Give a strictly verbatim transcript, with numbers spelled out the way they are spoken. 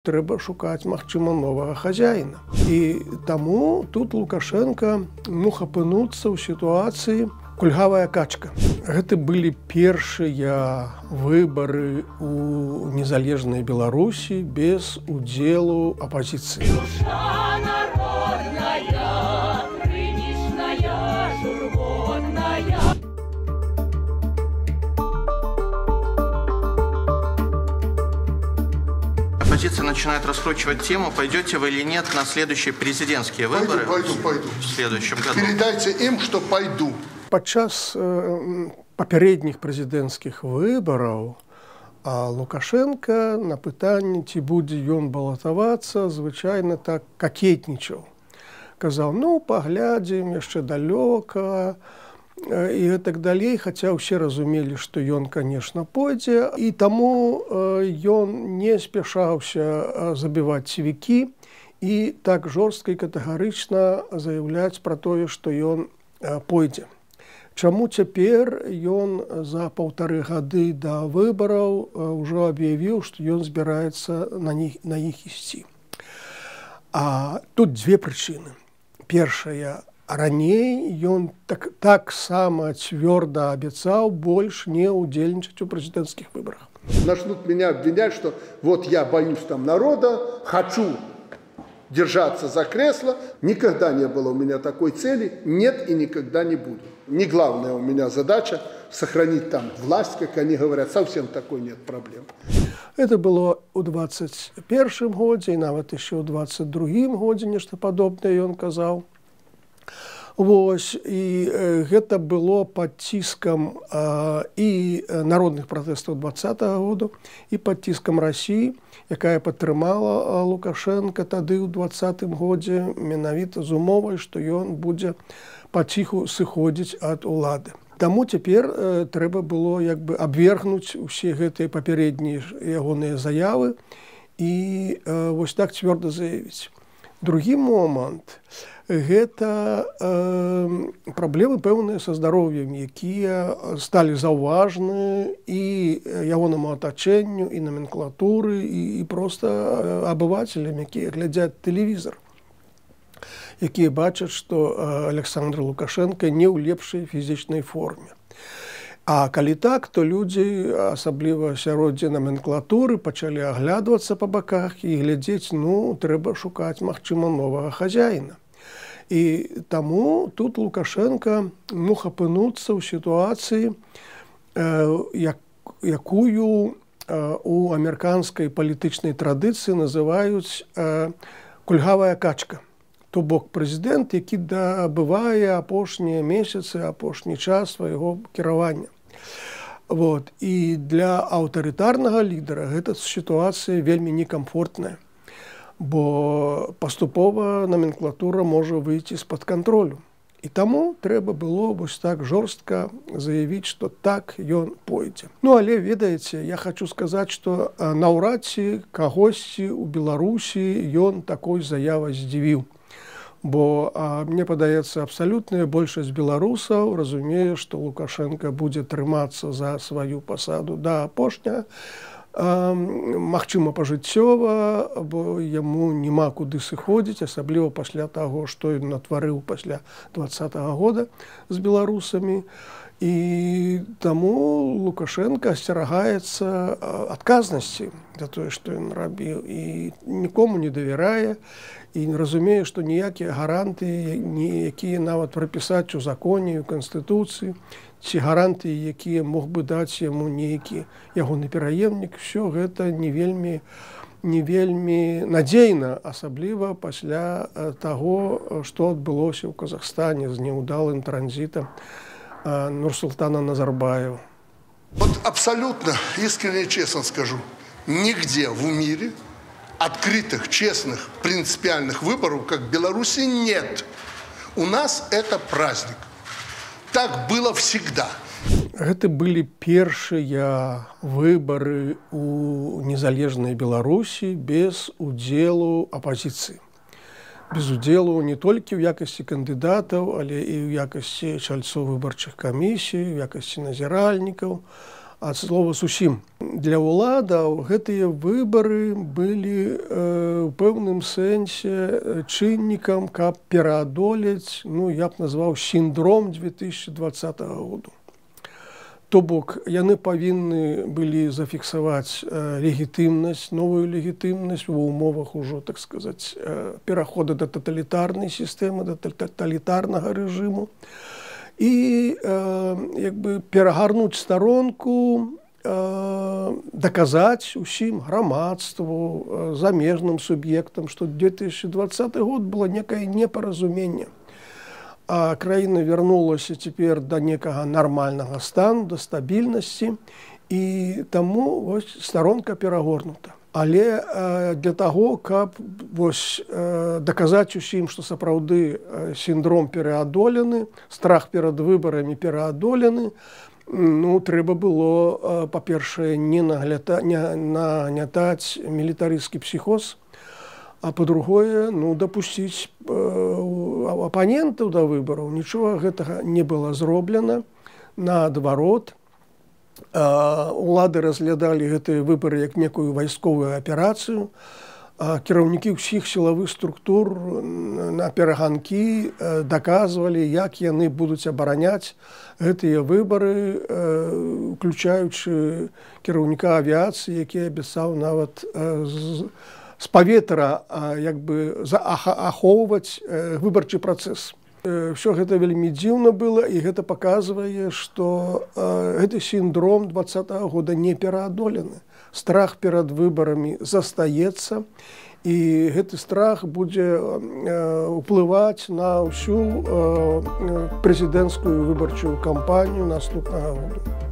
Трэба шукаць, магчыма, новага хазяіна. І таму тут Лукашенко мог апынуцца ў сітуацыі кульгавая качка. Гэта былі першыя выбары ў незалежнай Беларусі без удзелу апазіцыі. Оппозиция начинает раскручивать тему, пойдете вы или нет на следующие президентские выборы. Пойду, пойду, пойду. В следующем году. Передайте им, что пойду. Падчас э, папярэдніх прэзідэнцкіх выбараў а Лукашенко на пытанне, ці будзе ён балатавацца, звычайна так какетнічаў. Казаў, ну, паглядзім, яшчэ далёка, і гэтак далей, хаця ўсе разумелі, што ён, конечно, пойдзе, і таму ён не спяшаўся забіваць цівікі і так жорстка і катэгарычна заяўляць пра тое, што ён пойдзе. Чаму цяпер ён за паўтары гады да выбараў ужо аб'явіў, што ён збіраецца на них, на іх ісці. А тут дзве прычыны. Першая, раней ён так, так само цвёрда абяцаў больш не удзельнічаць у прэзідэнцкіх выбарах. Начнут меня обвинять, что вот я боюсь там народа, хочу держаться за кресло. Никогда не было у меня такой цели, нет и никогда не будет. Не главная у меня задача сохранить там власть, как они говорят, совсем такой нет проблем. Это было ў двадцать першым годзе, і нават яшчэ ў двадцать другім годзе нешта падобнае ён казаў. Вось, і э, гэта было пад ціскам э, і народных пратэстаў двадцатага году, і пад ціскам Расіі, якая падтрымала Лукашенка тады ў двадцатым годзе менавіта з умовай, што ён будзе паціху сыходзіць ад улады. Таму цяпер э, трэба было як бы абвергнуць усе гэтыя папярэднія ягоныя заявы і э, вось так цвёрда заявіць. Другі момант гэта э, праблемы пэўныя са здароўем, якія сталі заўважны і ягонаму атачэнню, і номенклатуры, і, і проста абывацелям, якія глядзяць тэлевізор, якія бачаць, што Александр Лукашенко не ў лепшай фізічнай форме. А калі так, то людзі, асабліва сяроддзе номенклатуры, пачалі аглядвацца па баках і глядзець, ну, трэба шукаць, магчыма, новага хазяіна. І таму тут Лукашенко мог апынуцца ў сітуацыі, як, якую у амерыканскай палітычнай традыцыі называюць кульгавая качка. То бок прэзідэнт, які дабывае апошнія месяцы, апошні час свайго кіравання. Вот. І для аўтарытарнага лідара гэта сітуацыя вельмі некамфортная, бо паступова номенклатура можа выйти з-пад кантролю. І таму трэба было вось так жорстка заявіць, што так ён пойдзе. Ну, але, ведаеце, я хочу сказаць, што наўрад ці кагосьці ў Беларусі ён такой заявай здзівіў. Бо а, мне падаецца, абсалютная большасць беларусаў разумее, што Лукашенко будзе трымацца за сваю пасаду да апошняга, магчыма, пажыццёва, бо яму няма куды сыходзіць, асабліва пасля таго, што ён натварыў пасля двадцатага года з беларусамі. І таму Лукашенко асцерагаецца адказнасці за тое, што ён рабіў, і нікому не давярае, і разумее, што ніякія гаранты, якія нават прапісаць у законе, у Канстытуцыі, ці гаранты, якія мог бы даць яму нейкі ягоны пераемнік, усё гэта не вельмі, не вельмі надзейна, асабліва пасля таго, што адбылося ў Казахстане з няўдалым транзітам Нурсултана Назарбаева. Вот абсолютно искренне и честно скажу, нигде в мире открытых, честных, принципиальных выборов, как в Беларуси, нет. У нас это праздник. Так было всегда. Гэта былі першыя выбары ў незалежнай Беларусі без удзелу апазіцыі. Без удзелу не толькі ў якасці кандыдатаў, але і ў якасці чальцоў выбарчых камісій, у якасці назіральнікаў, ад слова зусім. Для ўладаў гэтыя выбары былі э, ў пэўным сэнсе чыннікам, каб пераадолець, ну, я б назваў сіндром две тысячи двадцатого году. То бок, яны павінны былі зафіксаваць э, легітымнасць, новую легітымнасць ва ўмовах ужо, так сказаць, э, перахода да таталітарнай сістэмы, да таталітарнага рэжыму. І э, як бы перагарнуць старонку, э, даказаць усім грамадству, э, замежным суб'ектам, што две тысячи двадцаты год было некае непаразуменне. А краіна вярнулася цяпер да некага нармальнага стану, да стабільнасці, і таму вось старонка перагорнута. Але э, для таго, каб вось, э, даказаць усім, што сапраўды э, сіндром пераадолены, страх перад выбарамі пераадолены, ну, трэба было, э, па-першае, не, нагляда... не нагнятаць мілітарысцкі псіхоз, а па-другое, ну, дапусціць э, апанентаў да выбараў. Нічога гэтага не было зроблена. Наадварот, улады разглядалі гэтыя выбары як некую вайсковую аперацыю. Кіраўнікі ўсіх сілавых структур на пераганкі даказвалі, як яны будуць абараняць гэтыя выбары, уключаючы кіраўніка авіяцыі, які абяцаў нават з паветра як бы ахоўваць выбарчы працэс. Все гэта вельмі дзіўна было, і гэта паказвае, што э, гэты сіндром двадцатого года не пераадолены. Страх перад выбарамі застаецца, і гэты страх будзе э, ўплываць на ўсю э, прэзідэнцкую выбарчую кампанію наступнага года.